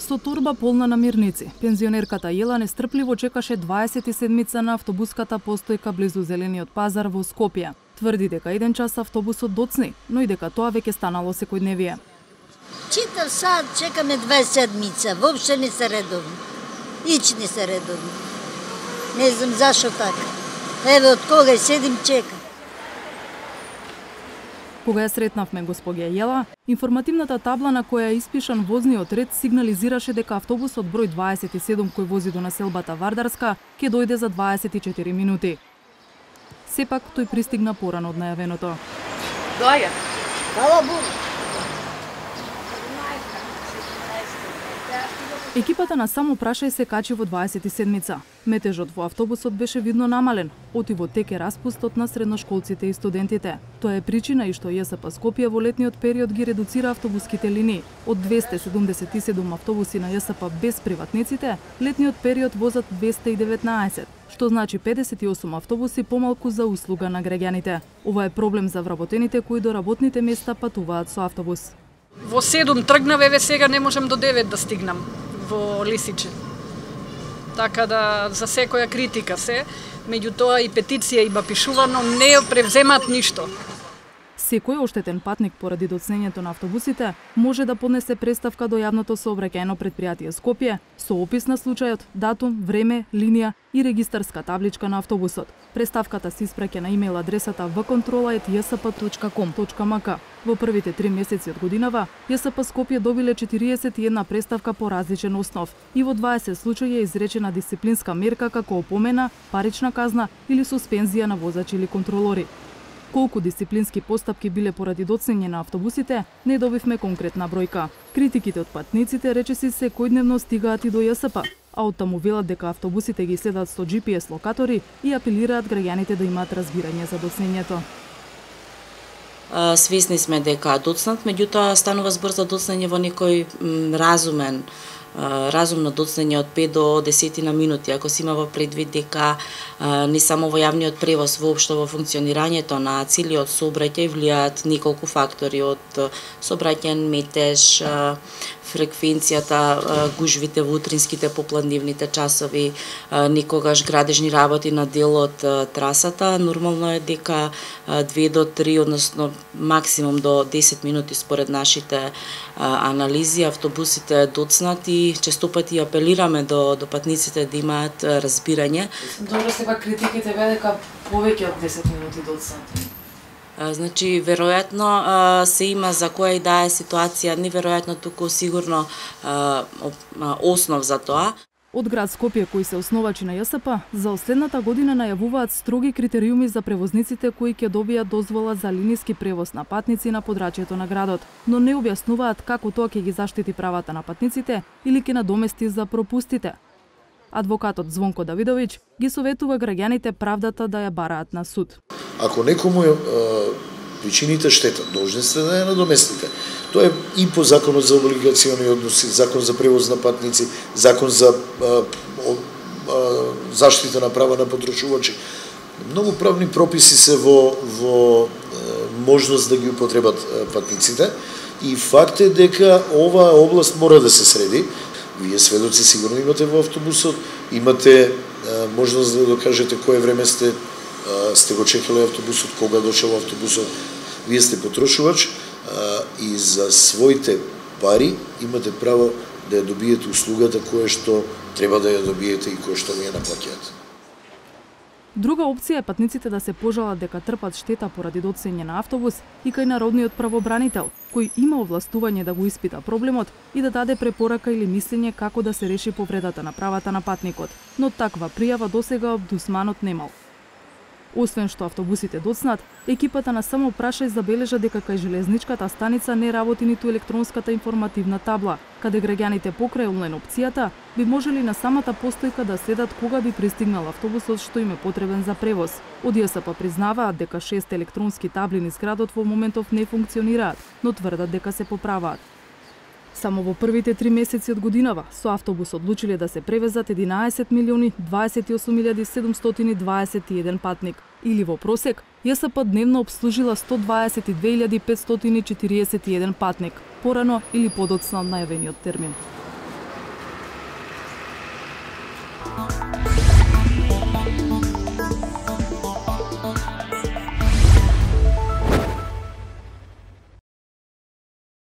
Со торба полна намирници, пензионерката Јела нестрпливо чекаше 27-мица на автобуската постојка близу Зелениот пазар во Скопје. Тврди дека еден час автобусот доцни, но и дека тоа веќе станало секојдневие. Читав сад, чекаме 27-мица, воопште не се редовни. Ич не се редовни. Не знам зашо така. Еве од кога седим чекам. Кога ја сретнавме госпоѓа Јела, информативната табла на која е испишан возниот ред сигнализираше дека автобусот број 27 кој вози до населбата Вардарска ќе дојде за 24 минути. Сепак тој пристигна порано од најавеното. Доаѓа. Фала Богу. Екипата на Само прашај се качи во 27-мица. Метежот во автобусот беше видно намален, отиво теке распустот на средношколците и студентите. Тоа е причина и што ЈСП Скопје во летниот период ги редуцира автобуските линии. Од 277 автобуси на ЈСП без приватниците, летниот период возат 219, што значи 58 автобуси помалку за услуга на граѓаните. Ова е проблем за вработените кои до работните места патуваат со автобус. Во 7 тргнав, еве сега не можам до 9 да стигнам во Лисиче. Така да за секоја критика се, меѓутоа и петиција има пишувано, не ја превземат ништо. Секој оштетен патник поради доцнењето на автобусите може да поднесе преставка до јавното сообраќајно предпријатие Скопје со опис на случајот, датум, време, линија и регистарска табличка на автобусот. Преставката се испраќа на имејл адресата vkontrola@jsp.com.mk. Во првите 3 месеци од годинава, ЈСП Скопје добиле 41 преставка по различен основ и во 20 случаи е изречена дисциплинска мерка како опомена, парична казна или суспензија на возачи или контролори. Колку дисциплински постапки биле поради доцнење на автобусите, не добивме конкретна бројка. Критиките од патниците речиси секојдневно стигаат и до ЈСП, а оттаму велат дека автобусите ги следат со GPS локатори и апелираат граѓаните да имаат разбирање за доцнењето. Свесни сме дека доцнат, меѓутоа станува збор за доцнење во некој разумно доцнење од 5 до 10 на минути, ако се има во предвид дека не само во јавниот превоз, воопшто во функционирањето на целиот сообраќај влијаат неколку фактори, од сообраќајен метеж, фреквенцијата, гужвите во утринските попладневните часови, некогаш градежни работи на дел од трасата. Нормално е дека 2 до 3, односно максимум до 10 минути според нашите анализи, автобусите доцнат и честопати апелираме до патниците да имаат разбирање. Добро, сега критиките бе дека повеќе од 10 минути доцнат. Значи, веројатно се има за која и да е ситуација, неверојатно туку сигурно основ за тоа. Од град Скопје, кои се основачи на ЈСП, за следната година најавуваат строги критериуми за превозниците кои ќе добијат дозвола за линиски превоз на патници на подрачјето на градот, но не објаснуваат како тоа ќе ги заштити правата на патниците или ќе надомести за пропустите. Адвокатот Звонко Давидовиќ ги советува граѓаните правдата да ја бараат на суд. Ако некому причините штета, должни сте да ја надоместите. Тоа е и по законот за облигациони односи, закон за превоз на патници, закон за заштита на права на потрошувачи. Многу правни прописи се во можност да ги употребат патниците и факт е дека оваа област мора да се среди. Вие сведоци сигурно имате во автобусот, имате можност да докажете кое време сте го чекале автобусот, кога дошел автобусот. Вие сте потрошувач и за своите пари имате право да ја добиете услугата која што треба да ја добиете и која што ви ја наплаќаат. Друга опција е патниците да се пожалат дека трпат штета поради доцнење на автобус и кај народниот правобранител, кој има овластување да го испита проблемот и да даде препорака или мислење како да се реши повредата на правата на патникот, но таква пријава досега омбудсманот немал. Освен што автобусите доцнат, екипата на Само прашај забележа дека кај железничката станица не работи ниту електронската информативна табла, каде граѓаните покрај онлайн опцијата би можели на самата постојка да следат кога би пристигнал автобусот што им е потребен за превоз. Од ЈСП признаваат дека 6 електронски табли низ градот во моментов не функционираат, но тврдат дека се поправаат. Само во првите 3 месеци од годинава со автобус одлучиле да се превезат 11.028.721 патник, или во просек ЈСП дневно обслужила 122.541 патник, порано или подоцна од најавениот термин. Италија.